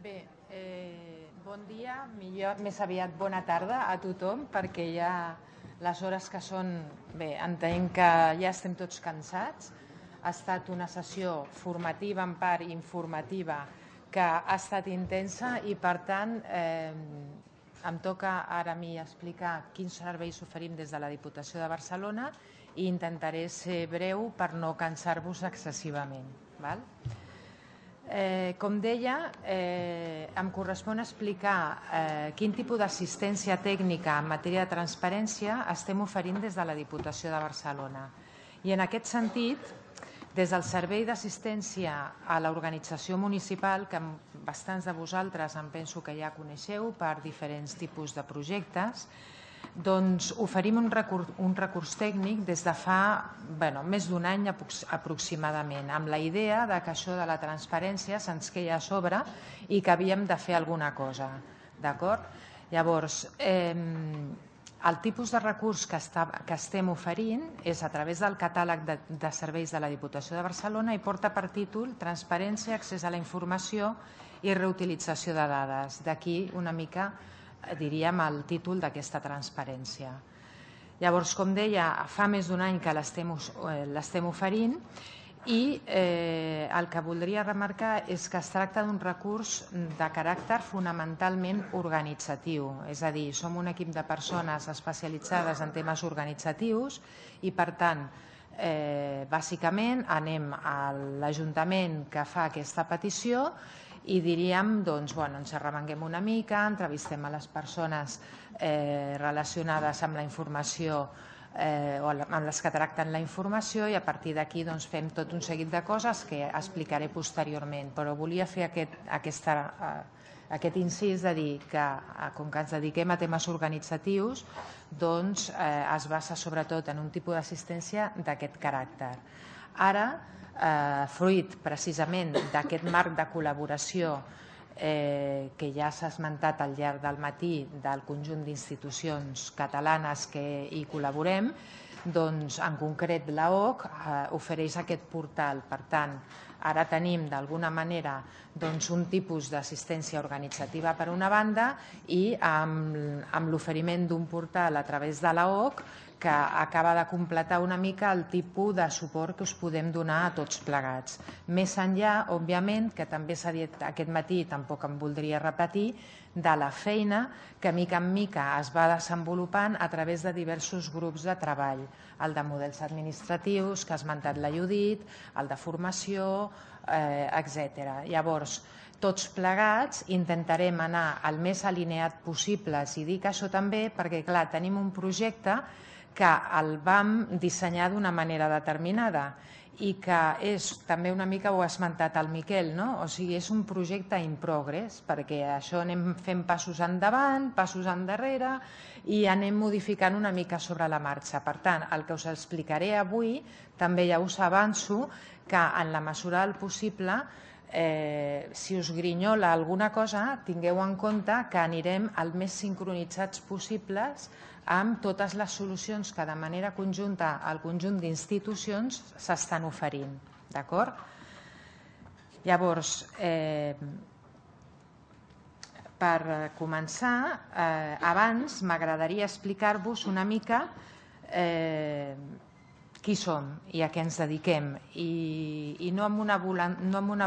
Bé, bon dia, millor més aviat bona tarda a tothom, perquè ja les hores que són, bé, entenc que ja estem tots cansats. Ha estat una sessió formativa, en part informativa, que ha estat intensa i, per tant, em toca ara a mi explicar quins serveis oferim des de la Diputació de Barcelona i intentaré ser breu per no cansar-vos excessivament. Val? Com deia, em correspon explicar quin tipus d'assistència tècnica en matèria de transparència estem oferint des de la Diputació de Barcelona. I en aquest sentit, des del Servei d'Assistència a l'Organització Municipal, que bastants de vosaltres em penso que ja coneixeu per diferents tipus de projectes, doncs oferim un recurs tècnic des de fa més d'un any aproximadament, amb la idea que això de la transparència se'ns queia a sobre i que havíem de fer alguna cosa. D'acord? Llavors, el tipus de recurs que estem oferint és a través del catàleg de serveis de la Diputació de Barcelona i porta per títol Transparència, accés a la informació i reutilització de dades. D'aquí una mica diríem el títol d'aquesta transparència. Llavors, com deia, fa més d'un any que l'estem oferint i el que voldria remarcar és que es tracta d'un recurs de caràcter fonamentalment organitzatiu, és a dir, som un equip de persones especialitzades en temes organitzatius i, per tant, bàsicament anem a l'Ajuntament que fa aquesta petició i diríem, doncs, ens arremanguem una mica, entrevistem a les persones relacionades amb la informació o amb les que tracten la informació i a partir d'aquí fem tot un seguit de coses que explicaré posteriorment. Però volia fer aquest incís de dir que, com que ens dediquem a temes organitzatius, doncs es basa sobretot en un tipus d'assistència d'aquest caràcter. Ara, fruit precisament d'aquest marc de col·laboració que ja s'ha esmentat al llarg del matí del conjunt d'institucions catalanes que hi col·laborem, doncs en concret l'AOC ofereix aquest portal. Per tant, ara tenim d'alguna manera un tipus d'assistència organitzativa per una banda i amb l'oferiment d'un portal a través de l'AOC que acaba de completar una mica el tipus de suport que us podem donar a tots plegats. Més enllà, òbviament, que també s'ha dit aquest matí, tampoc em voldria repetir, de la feina que mica en mica es va desenvolupant a través de diversos grups de treball, el de models administratius, que ha esmentat la Judit, el de formació, etc. Llavors, tots plegats intentarem anar el més alineat possible, i dic això també perquè, clar, tenim un projecte que el vam dissenyar d'una manera determinada i que és, també una mica ho ha esmentat el Miquel, o sigui, és un projecte in progress, perquè això anem fent passos endavant, passos endarrere i anem modificant una mica sobre la marxa. Per tant, el que us explicaré avui, també ja us avanço que en la mesura del possible, si us grinyola alguna cosa, tingueu en compte que anirem el més sincronitzats possibles amb totes les solucions que de manera conjunta al conjunt d'institucions s'estan oferint. D'acord? Llavors, per començar, abans m'agradaria explicar-vos una mica qui som i a què ens dediquem i no amb una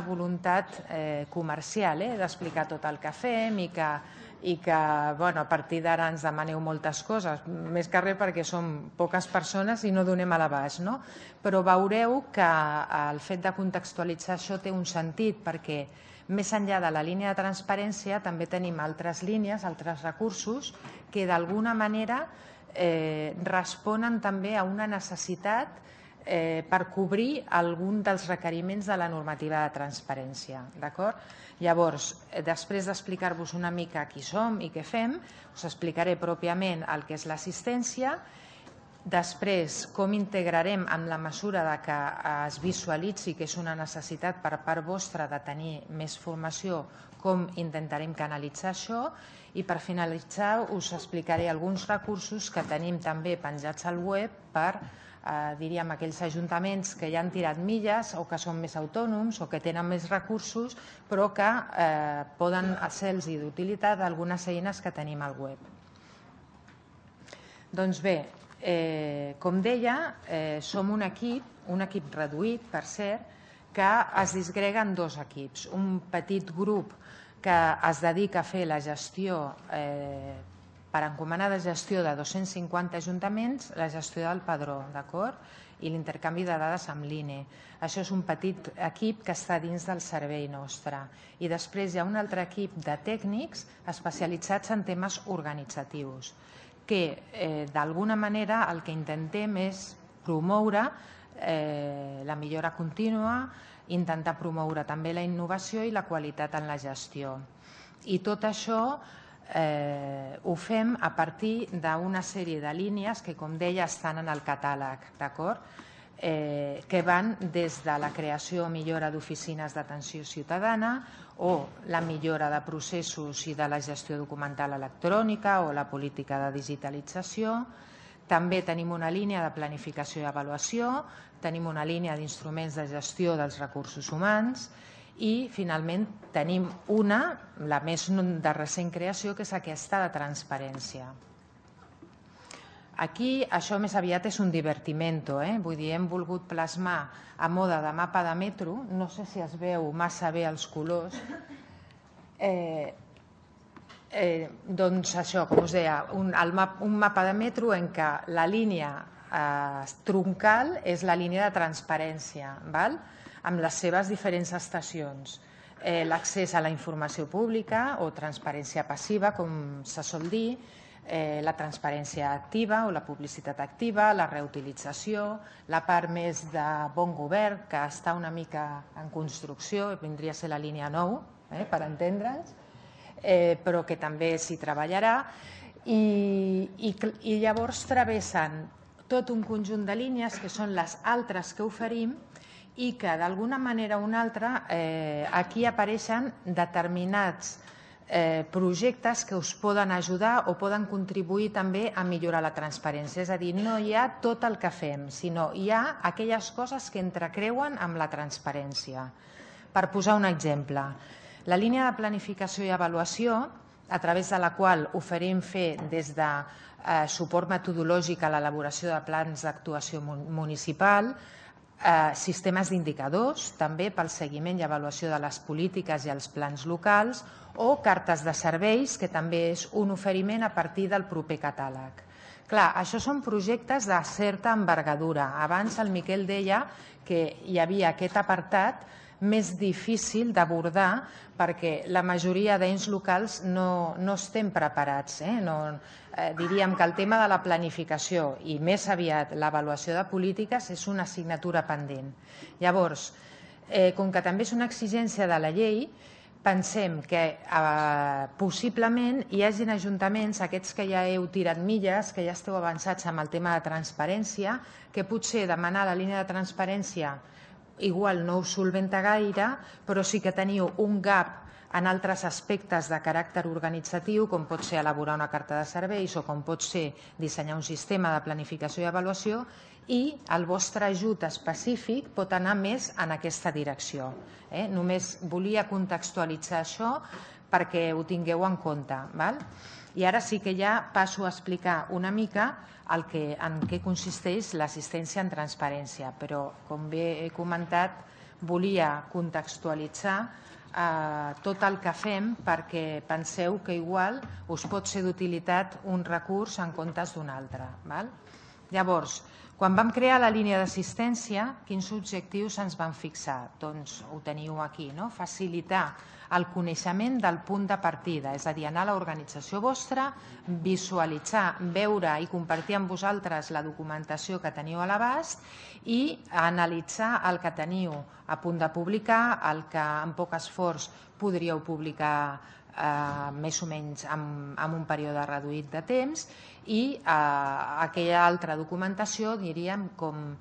voluntat comercial d'explicar tot el que fem i que a partir d'ara ens demaneu moltes coses, més que res perquè som poques persones i no donem a l'abast, però veureu que el fet de contextualitzar això té un sentit perquè més enllà de la línia de transparència també tenim altres línies, altres recursos que d'alguna manera responen també a una necessitat per cobrir algun dels requeriments de la normativa de transparència. Llavors, després d'explicar-vos una mica qui som i què fem, us explicaré pròpiament el que és l'assistència, després com integrarem en la mesura que es visualitzi que és una necessitat per part vostra de tenir més formació, com intentarem canalitzar això i per finalitzar us explicaré alguns recursos que tenim també penjats al web per diríem, aquells ajuntaments que ja han tirat milles o que són més autònoms o que tenen més recursos, però que poden ser-los d'utilitat algunes eines que tenim al web. Doncs bé, com deia, som un equip reduït, per cert, que es disgrega en dos equips. Un petit grup que es dedica a fer la gestió per encomanar de gestió de 250 ajuntaments, la gestió del padró, d'acord? I l'intercanvi de dades amb l'INE. Això és un petit equip que està dins del servei nostre. I després hi ha un altre equip de tècnics especialitzats en temes organitzatius, que d'alguna manera el que intentem és promoure la millora contínua, intentar promoure també la innovació i la qualitat en la gestió. I tot això ho fem a partir d'una sèrie de línies que, com deia, estan en el catàleg, d'acord? Que van des de la creació o millora d'oficines d'atenció ciutadana o la millora de processos i de la gestió documental electrònica o la política de digitalització. També tenim una línia de planificació i avaluació, tenim una línia d'instruments de gestió dels recursos humans i, finalment, tenim una, la més de recent creació, que és aquesta de transparència. Aquí això més aviat és un divertimento, vull dir, hem volgut plasmar a mode de mapa de metro, no sé si es veu massa bé els colors, doncs això, com us deia, un mapa de metro en què la línia troncal és la línia de transparència, amb les seves diferents estacions. L'accés a la informació pública o transparència passiva, com se sol dir, la transparència activa o la publicitat activa, la reutilització, la part més de bon govern, que està una mica en construcció, vindria a ser la línia 9, per entendre'ns, però que també s'hi treballarà, i llavors travessen tot un conjunt de línies que són les altres que oferim i que d'alguna manera o una altra aquí apareixen determinats projectes que us poden ajudar o poden contribuir també a millorar la transparència. És a dir, no hi ha tot el que fem, sinó hi ha aquelles coses que entrecreuen amb la transparència. Per posar un exemple, la línia de planificació i avaluació, a través de la qual oferim fer des de suport metodològic a l'elaboració de plans d'actuació municipal, sistemes d'indicadors, també pel seguiment i avaluació de les polítiques i els plans locals, o cartes de serveis, que també és un oferiment a partir del proper catàleg. Clar, això són projectes de certa envergadura. Abans el Miquel deia que hi havia aquest apartat més difícil d'abordar perquè la majoria d'ens locals no estem preparats. Diríem que el tema de la planificació i més aviat l'avaluació de polítiques és una assignatura pendent. Llavors, com que també és una exigència de la llei, pensem que possiblement hi hagin ajuntaments, aquests que ja heu tirat milles, que ja esteu avançats amb el tema de transparència, que potser demanar la línia de transparència igual no us solventa gaire, però sí que teniu un gap en altres aspectes de caràcter organitzatiu, com pot ser elaborar una carta de serveis o com pot ser dissenyar un sistema de planificació i avaluació, i el vostre ajut específic pot anar més en aquesta direcció. Només volia contextualitzar això perquè ho tingueu en compte. I ara sí que ja passo a explicar una mica en què consisteix l'assistència en transparència, però, com bé he comentat, volia contextualitzar tot el que fem perquè penseu que igual us pot ser d'utilitat un recurs en comptes d'un altre. Llavors, quan vam crear la línia d'assistència, quins objectius ens van fixar? Doncs ho teniu aquí, facilitar el coneixement del punt de partida, és a dir, anar a l'organització vostra, visualitzar, veure i compartir amb vosaltres la documentació que teniu a l'abast i analitzar el que teniu a punt de publicar, el que amb poc esforç podríeu publicar més o menys en un període reduït de temps, i aquella altra documentació, diríem, com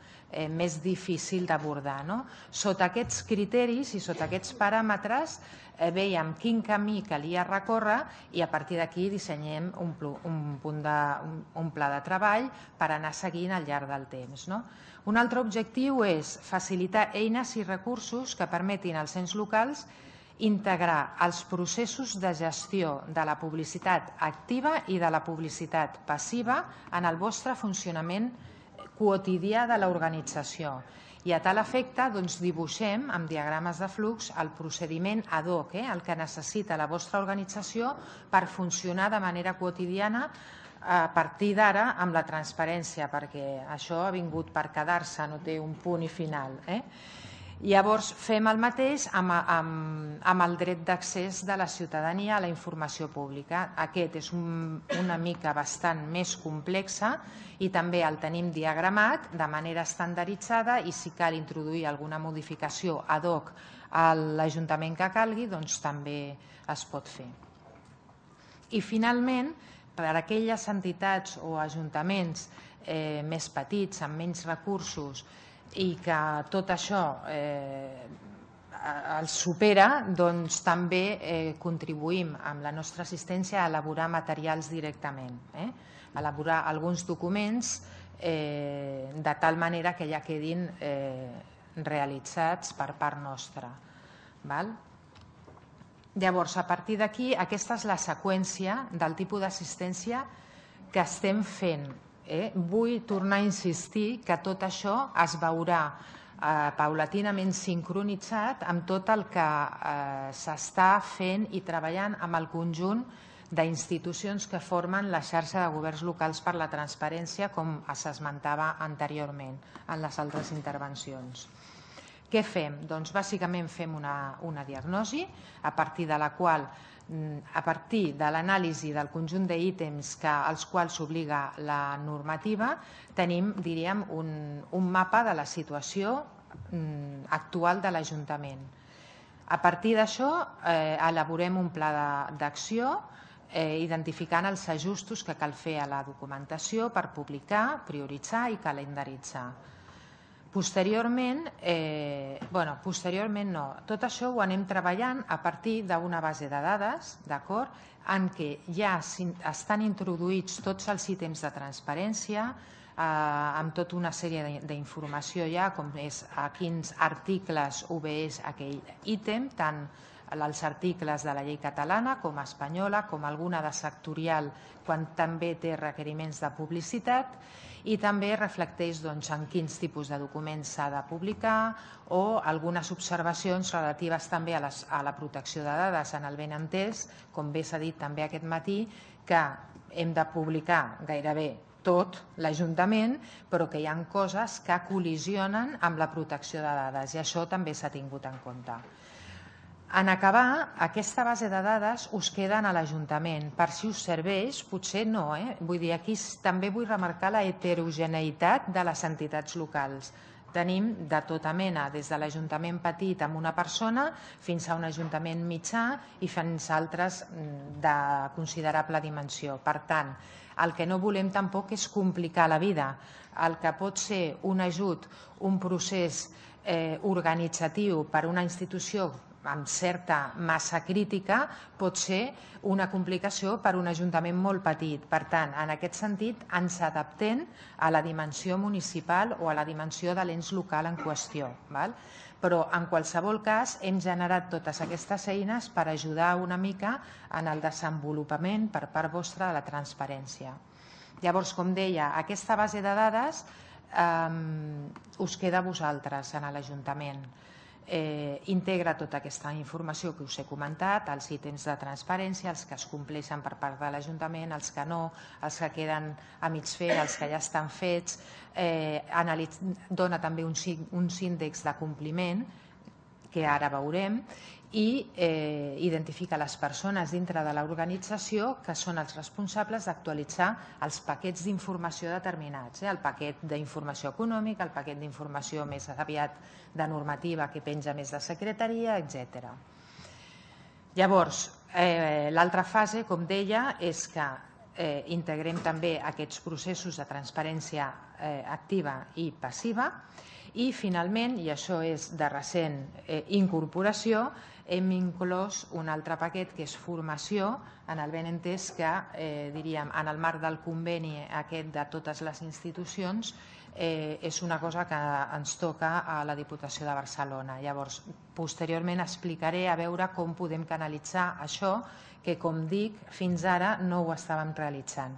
més difícil d'abordar. Sota aquests criteris i sota aquests paràmetres veiem quin camí calia recórrer i a partir d'aquí dissenyem un pla de treball per anar seguint al llarg del temps. Un altre objectiu és facilitar eines i recursos que permetin als ens locals integrar els processos de gestió de la publicitat activa i de la publicitat passiva en el vostre funcionament quotidià de l'organització. I a tal efecte dibuixem amb diagrames de flux el procediment ad hoc, el que necessita la vostra organització per funcionar de manera quotidiana a partir d'ara amb la transparència, perquè això ha vingut per quedar-se, no té un punt i final. Llavors fem el mateix amb el dret d'accés de la ciutadania a la informació pública. Aquest és una mica bastant més complexa i també el tenim diagramat de manera estandarditzada i si cal introduir alguna modificació ad hoc a l'Ajuntament que calgui, doncs també es pot fer. I finalment, per a aquelles entitats o ajuntaments més petits, amb menys recursos, i que tot això els supera, doncs també contribuïm amb la nostra assistència a elaborar materials directament, elaborar alguns documents de tal manera que ja quedin realitzats per part nostra. Llavors, a partir d'aquí, aquesta és la seqüència del tipus d'assistència que estem fent. Vull tornar a insistir que tot això es veurà paulatinament sincronitzat amb tot el que s'està fent i treballant amb el conjunt d'institucions que formen la xarxa de governs locals per la transparència, com s'esmentava anteriorment en les altres intervencions. Què fem? Doncs bàsicament fem una diagnosi a partir de la qual, a partir de l'anàlisi del conjunt d'ítems als quals s'obliga la normativa, tenim, diríem, un mapa de la situació actual de l'Ajuntament. A partir d'això elaborem un pla d'acció identificant els ajustos que cal fer a la documentació per publicar, prioritzar i calendaritzar. Posteriorment no, tot això ho anem treballant a partir d'una base de dades, d'acord, en què ja estan introduïts tots els ítems de transparència, amb tota una sèrie d'informació ja, com és a quins articles obeeix aquell ítem, tant els articles de la llei catalana com espanyola, com alguna de sectorial quan també té requeriments de publicitat, i també reflecteix en quins tipus de documents s'ha de publicar o algunes observacions relatives també a la protecció de dades, en el benentès, com bé s'ha dit també aquest matí, que hem de publicar gairebé tot l'Ajuntament, però que hi ha coses que col·lisionen amb la protecció de dades i això també s'ha tingut en compte. En acabar, aquesta base de dades us queden a l'Ajuntament. Per si us serveix, potser no. Vull dir, aquí també vull remarcar la heterogeneïtat de les entitats locals. Tenim de tota mena, des de l'Ajuntament petit amb una persona fins a un Ajuntament mitjà i fins a altres de considerable dimensió. Per tant, el que no volem tampoc és complicar la vida. El que pot ser un ajut, un procés organitzatiu per a una institució amb certa massa crítica, pot ser una complicació per a un ajuntament molt petit. Per tant, en aquest sentit, ens adaptem a la dimensió municipal o a la dimensió de l'ens local en qüestió. Però, en qualsevol cas, hem generat totes aquestes eines per ajudar una mica en el desenvolupament per part vostra de la transparència. Llavors, com deia, aquesta base de dades us queda a vosaltres en l'Ajuntament. Integra tota aquesta informació que us he comentat, els ítems de transparència, els que es compleixen per part de l'Ajuntament, els que no, els que queden a mig fer, els que ja estan fets, dona també uns índexs de compliment, que ara veurem, i identifica les persones dintre de l'organització que són els responsables d'actualitzar els paquets d'informació determinats, el paquet d'informació econòmica, el paquet d'informació més aviat de normativa que penja més de secretaria, etc. Llavors, L'altra fase, com deia, és que integrem també aquests processos de transparència activa i passiva i finalment, i això és de recent incorporació, hem inclòs un altre paquet que és formació, en el ben entès que, diríem, en el marc del conveni aquest de totes les institucions, és una cosa que ens toca a la Diputació de Barcelona. Llavors, posteriorment explicaré a veure com podem canalitzar això que, com dic, fins ara no ho estàvem realitzant.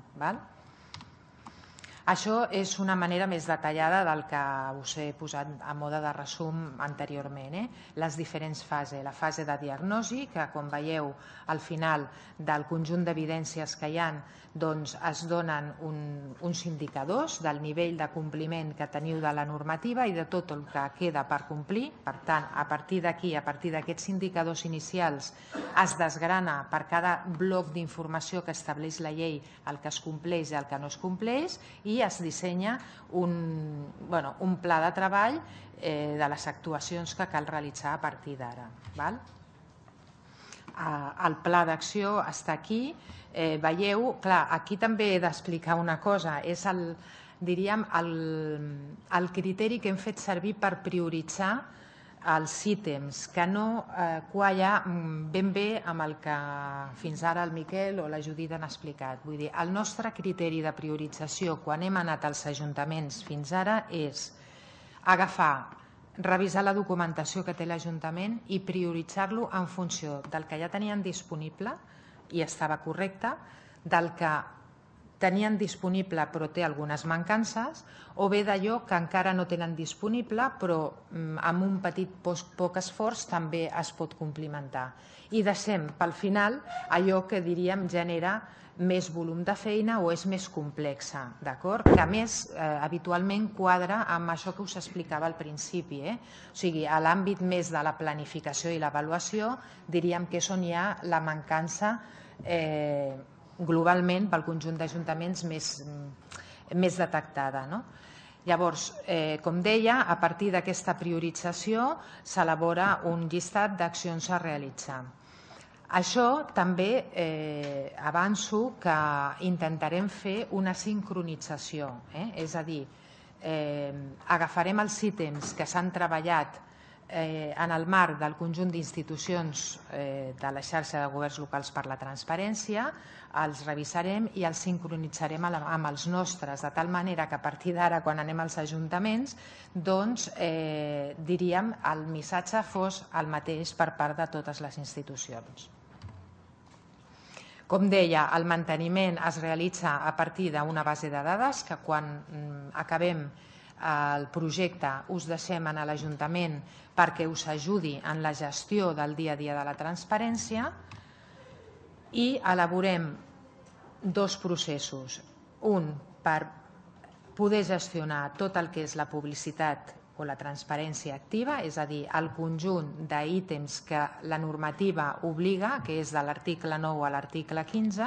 Això és una manera més detallada del que us he posat a mode de resum anteriorment. Les diferents fases. La fase de diagnosi, que com veieu al final del conjunt d'evidències que hi ha, doncs es donen uns indicadors del nivell de compliment que teniu de la normativa i de tot el que queda per complir. Per tant, a partir d'aquí, a partir d'aquests indicadors inicials, es desgrana per cada bloc d'informació que estableix la llei el que es compleix i el que no es compleix i es dissenya un pla de treball de les actuacions que cal realitzar a partir d'ara. El pla d'acció està aquí. Veieu, clar, aquí també he d'explicar una cosa, és diríem el criteri que hem fet servir per prioritzar els ítems, que no qualla ben bé amb el que fins ara el Miquel o la Judit han explicat. Vull dir, el nostre criteri de priorització quan hem anat als ajuntaments fins ara és agafar, revisar la documentació que té l'Ajuntament i prioritzar-lo en funció del que ja tenien disponible i estava correcte, del que tenien disponible però té algunes mancances, o bé d'allò que encara no tenen disponible però amb un petit poc esforç també es pot complementar. I deixem pel final allò que diríem genera més volum de feina o és més complexa, d'acord? Que a més habitualment quadra amb això que us explicava al principi. O sigui, a l'àmbit més de la planificació i l'avaluació diríem que és on hi ha la mancança globalment pel conjunt d'ajuntaments més detectada. Llavors, com deia, a partir d'aquesta priorització s'elabora un llistat d'accions a realitzar. Això també avanço que intentarem fer una sincronització, és a dir, agafarem els ítems que s'han treballat en el marc del conjunt d'institucions de la xarxa de governs locals per la transparència, els revisarem i els sincronitzarem amb els nostres, de tal manera que a partir d'ara, quan anem als ajuntaments, doncs, diríem, el missatge fos el mateix per part de totes les institucions. Com deia, el manteniment es realitza a partir d'una base de dades que quan acabem el projecte us deixem a l'Ajuntament perquè us ajudi en la gestió del dia a dia de la transparència i elaborem dos processos. Un, per poder gestionar tot el que és la publicitat o la transparència activa, és a dir, el conjunt d'ítems que la normativa obliga, que és de l'article 9 a l'article 15,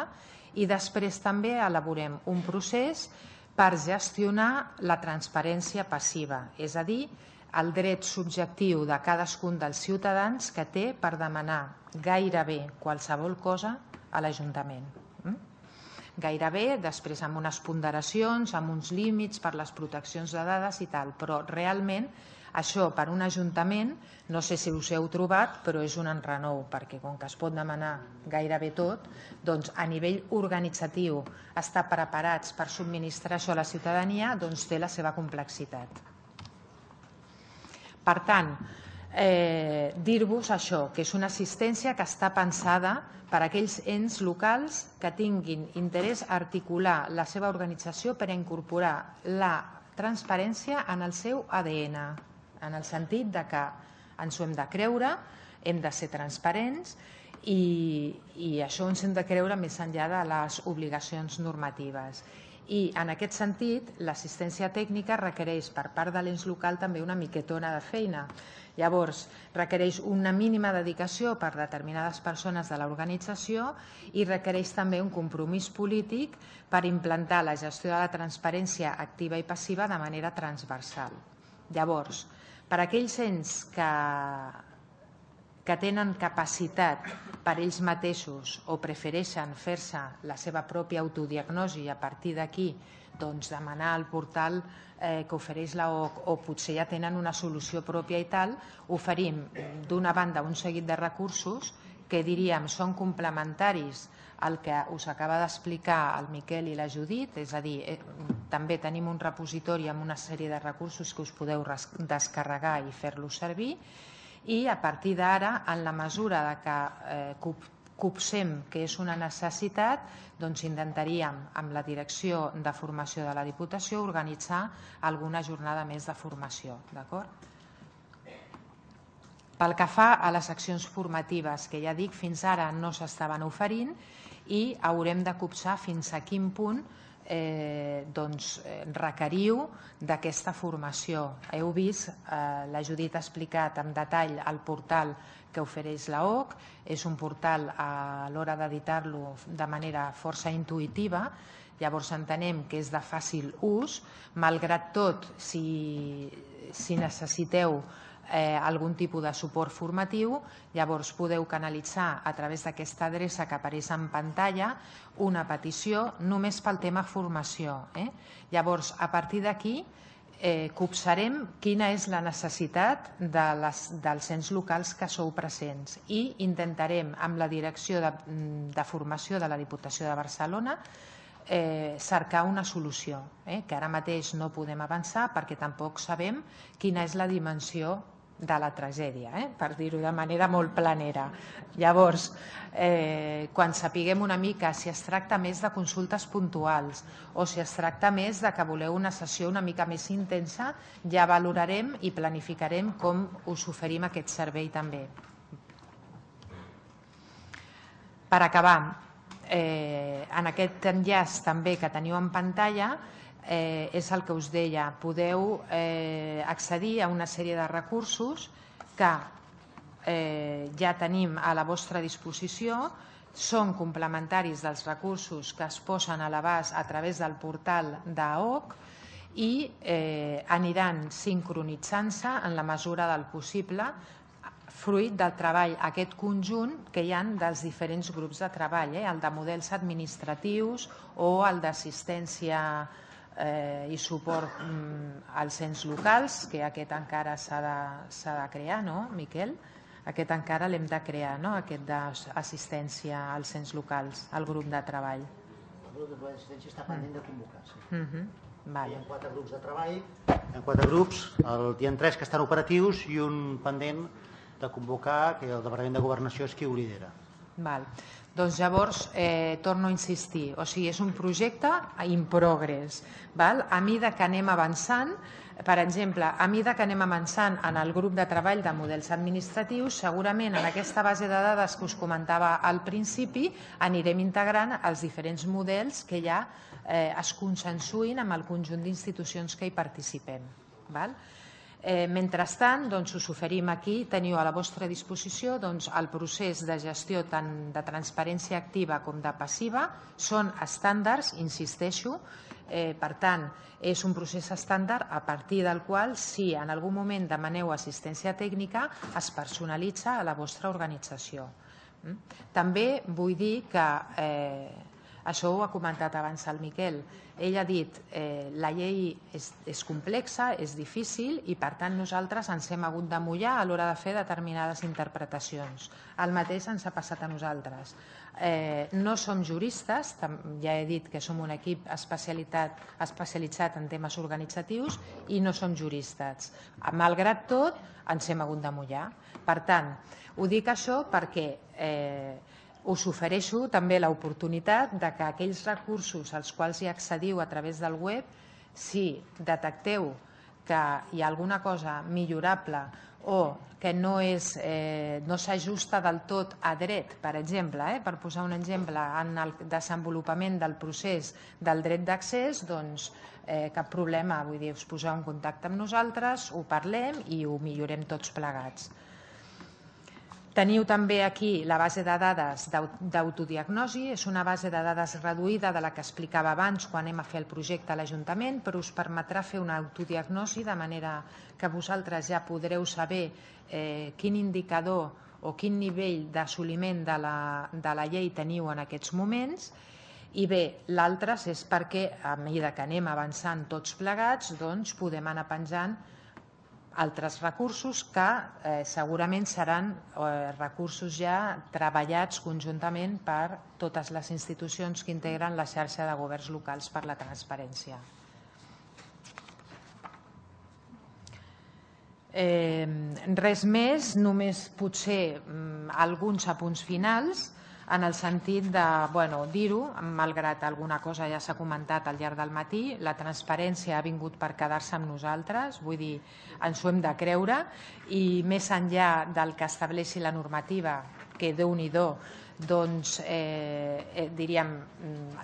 i després també elaborem un procés per gestionar la transparència passiva, és a dir, el dret subjectiu de cadascun dels ciutadans que té per demanar gairebé qualsevol cosa a l'Ajuntament. Gairebé, després amb unes ponderacions, amb uns límits per les proteccions de dades i tal, però realment això per un ajuntament, no sé si us heu trobat, però és un enrenou, perquè com que es pot demanar gairebé tot, doncs a nivell organitzatiu estar preparats per subministrar això a la ciutadania doncs té la seva complexitat. Per tant, dir-vos això, que és una assistència que està pensada per a aquells ens locals que tinguin interès a articular la seva organització per a incorporar la transparència en el seu ADN, en el sentit que ens ho hem de creure, hem de ser transparents i això ens hem de creure més enllà de les obligacions normatives. I en aquest sentit, l'assistència tècnica requereix per part de l'ens local també una miquetona de feina. Llavors, requereix una mínima dedicació per determinades persones de l'organització i requereix també un compromís polític per implantar la gestió de la transparència activa i passiva de manera transversal. Llavors, per a aquells ens que que tenen capacitat per ells mateixos o prefereixen fer-se la seva pròpia autodiagnosi i a partir d'aquí demanar al portal que ofereix l'OC o potser ja tenen una solució pròpia i tal, oferim d'una banda un seguit de recursos que diríem són complementaris al que us acaba d'explicar el Miquel i la Judit, és a dir, també tenim un repositori amb una sèrie de recursos que us podeu descarregar i fer-los servir i a partir d'ara, en la mesura que copsem que és una necessitat, doncs intentaríem, amb la Direcció de Formació de la Diputació, organitzar alguna jornada més de formació. Pel que fa a les accions formatives, que ja dic, fins ara no s'estaven oferint i haurem de copsar fins a quin punt requeriu d'aquesta formació. Heu vist, la Judit ha explicat en detall el portal que ofereix l'OC, és un portal a l'hora d'editar-lo de manera força intuïtiva, llavors entenem que és de fàcil ús, malgrat tot, si necessiteu algun tipus de suport formatiu, llavors podeu canalitzar a través d'aquesta adreça que apareix en pantalla una petició només pel tema formació. Llavors, a partir d'aquí, copsarem quina és la necessitat dels ens locals que sou presents i intentarem, amb la Direcció de Formació de la Diputació de Barcelona, cercar una solució, que ara mateix no podem avançar perquè tampoc sabem quina és la dimensió de la tragèdia, per dir-ho de manera molt planera. Llavors, quan sapiguem una mica si es tracta més de consultes puntuals o si es tracta més de que voleu una sessió una mica més intensa, ja valorarem i planificarem com us oferim aquest servei també. Per acabar, en aquest enllaç també que teniu en pantalla, és el que us deia, podeu accedir a una sèrie de recursos que ja tenim a la vostra disposició, són complementaris dels recursos que es posen a l'abast a través del portal d'AOC i aniran sincronitzant-se en la mesura del possible fruit del treball, aquest conjunt que hi ha dels diferents grups de treball, el de models administratius o el d'assistència i suport als ens locals, que aquest encara s'ha de crear, no, Miquel? Aquest encara l'hem de crear, no?, aquest d'assistència als ens locals, al grup de treball. El grup d'assistència està pendent de convocar-se. Hi ha 4 grups de treball, hi ha 4 grups, hi ha 3 que estan operatius i un pendent de convocar, que el Departament de Governació és qui ho lidera. Doncs llavors, torno a insistir, o sigui, és un projecte in progress. A mesura que anem avançant, per exemple, a mesura que anem avançant en el grup de treball de models administratius, segurament en aquesta base de dades que us comentava al principi anirem integrant els diferents models que ja es consensuïn amb el conjunt d'institucions que hi participem. Mentrestant, us oferim aquí, teniu a la vostra disposició el procés de gestió tant de transparència activa com de passiva, són estàndards, insisteixo, per tant, és un procés estàndard a partir del qual, si en algun moment demaneu assistència tècnica, es personalitza a la vostra organització. També vull dir que, això ho ha comentat abans el Miquel, ell ha dit la llei és complexa, és difícil i per tant nosaltres ens hem hagut de mullar a l'hora de fer determinades interpretacions. El mateix ens ha passat a nosaltres. No som juristes, ja he dit que som un equip especialitzat en temes organitzatius i no som juristes. Malgrat tot, ens hem hagut de mullar. Per tant, ho dic això perquè us ofereixo també l'oportunitat que aquells recursos als quals hi accediu a través del web, si detecteu que hi ha alguna cosa millorable o que no s'ajusta del tot a dret, per exemple, per posar un exemple, en el desenvolupament del procés del dret d'accés, doncs cap problema, vull dir, us poseu en contacte amb nosaltres, ho parlem i ho millorem tots plegats. Teniu també aquí la base de dades d'autodiagnosi, és una base de dades reduïda de la que explicava abans quan anem a fer el projecte a l'Ajuntament, però us permetrà fer una autodiagnosi de manera que vosaltres ja podreu saber quin indicador o quin nivell d'assoliment de la llei teniu en aquests moments. I bé, l'altre és perquè a mesura que anem avançant tots plegats doncs podem anar penjant altres recursos que segurament seran recursos ja treballats conjuntament per totes les institucions que integren la xarxa de governs locals per la transparència. Res més, només potser alguns apunts finals, en el sentit de dir-ho, malgrat alguna cosa ja s'ha comentat al llarg del matí, la transparència ha vingut per quedar-se amb nosaltres, vull dir, ens ho hem de creure, i més enllà del que estableixi la normativa, que Déu-n'hi-do, doncs diríem,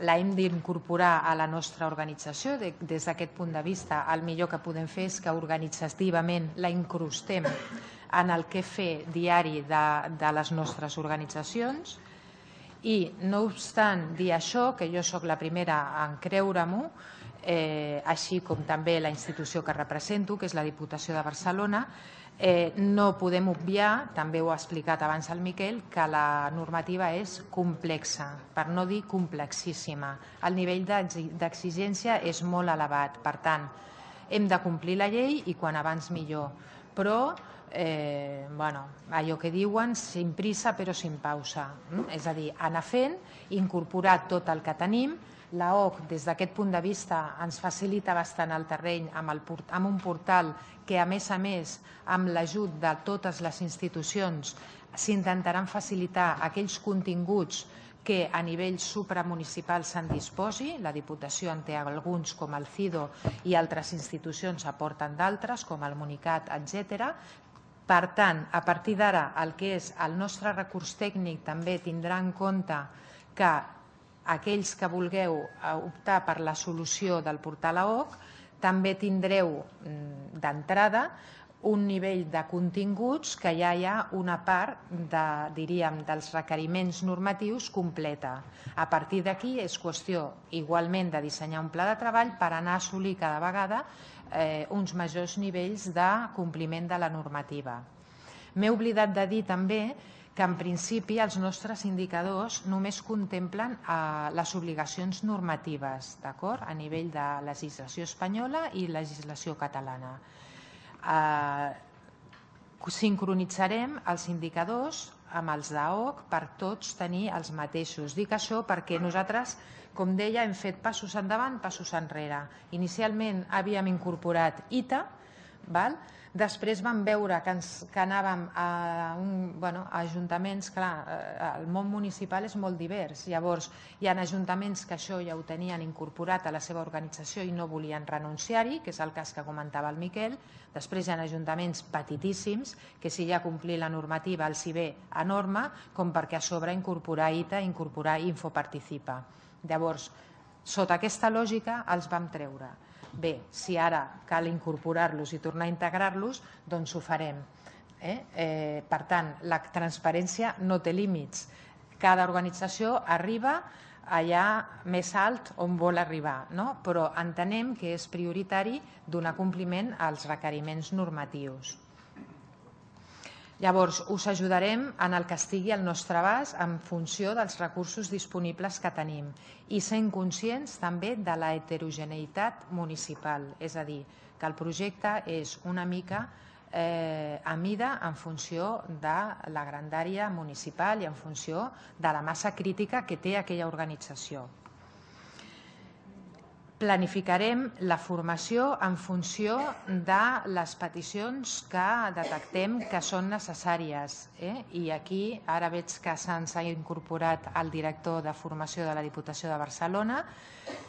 l'hem d'incorporar a la nostra organització. Des d'aquest punt de vista, el millor que podem fer és que organitzativament la incrustem en el que fer diari de les nostres organitzacions. I, no obstant dir això, que jo sóc la primera en creure-m'ho, així com també la institució que represento, que és la Diputació de Barcelona, no podem obviar, també ho ha explicat abans el Miquel, que la normativa és complexa, per no dir complexíssima. El nivell d'exigència és molt elevat, per tant, hem de complir la llei i quan abans millor. Però allò que diuen, sin prisa però sin pausa, és a dir, anar fent, incorporar tot el que tenim. L'AOC, des d'aquest punt de vista, ens facilita bastant el terreny amb un portal que, a més, amb l'ajut de totes les institucions, s'intentaran facilitar aquells continguts que a nivell supramunicipal se'n disposi. La Diputació en té alguns, com el CIDO, i altres institucions aporten d'altres, com el Municat, etc. Per tant, a partir d'ara, el que és el nostre recurs tècnic també tindrà en compte que aquells que vulgueu optar per la solució del portal AOC també tindreu d'entrada un nivell de continguts que ja hi ha una part dels requeriments normatius completa. A partir d'aquí és qüestió igualment de dissenyar un pla de treball per anar a assolir cada vegada uns majors nivells de compliment de la normativa. M'he oblidat de dir també que en principi els nostres indicadors només contemplen les obligacions normatives, d'acord? A nivell de legislació espanyola i legislació catalana. Sincronitzarem els indicadors amb els d'AOC per tots tenir els mateixos. Dic això perquè nosaltres, com deia, hem fet passos endavant, passos enrere. Inicialment havíem incorporat ITA, després vam veure que anàvem a ajuntaments, clar, el món municipal és molt divers, llavors hi ha ajuntaments que això ja ho tenien incorporat a la seva organització i no volien renunciar-hi, que és el cas que comentava el Miquel. Després hi ha ajuntaments petitíssims que si ja complir la normativa els hi ve enorme, com perquè a sobre incorporar ITA, incorporar Infoparticipa. Llavors, sota aquesta lògica els vam treure. Bé, si ara cal incorporar-los i tornar a integrar-los, doncs ho farem. Per tant, la transparència no té límits. Cada organització arriba allà més alt on vol arribar, però entenem que és prioritari donar compliment als requeriments normatius. Llavors, us ajudarem en el que estigui al nostre abast en funció dels recursos disponibles que tenim i sent conscients també de la heterogeneïtat municipal, és a dir, que el projecte és una mica a mida en funció de la grandària municipal i en funció de la massa crítica que té aquella organització. Planificarem la formació en funció de les peticions que detectem que són necessàries. I aquí ara veig que se'ns ha incorporat el director de formació de la Diputació de Barcelona.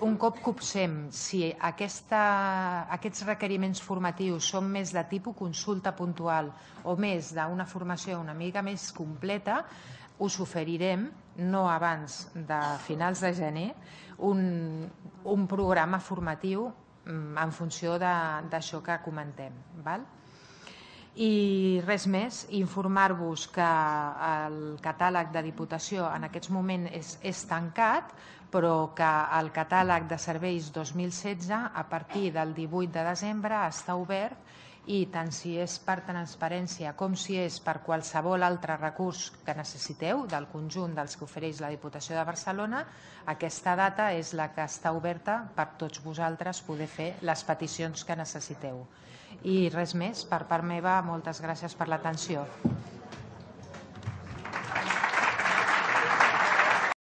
Un cop copsem si aquests requeriments formatius són més de tipus consulta puntual o més d'una formació una mica més completa, us oferirem, no abans de finals de gener, un programa formatiu en funció d'això que comentem. I res més, informar-vos que el catàleg de Diputació en aquests moments és tancat, però que el catàleg de serveis 2016 a partir del 18 de desembre està obert i tant si és per transparència com si és per qualsevol altre recurs que necessiteu del conjunt dels que ofereix la Diputació de Barcelona, aquesta data és la que està oberta per tots vosaltres poder fer les peticions que necessiteu. I res més, per part meva, moltes gràcies per l'atenció.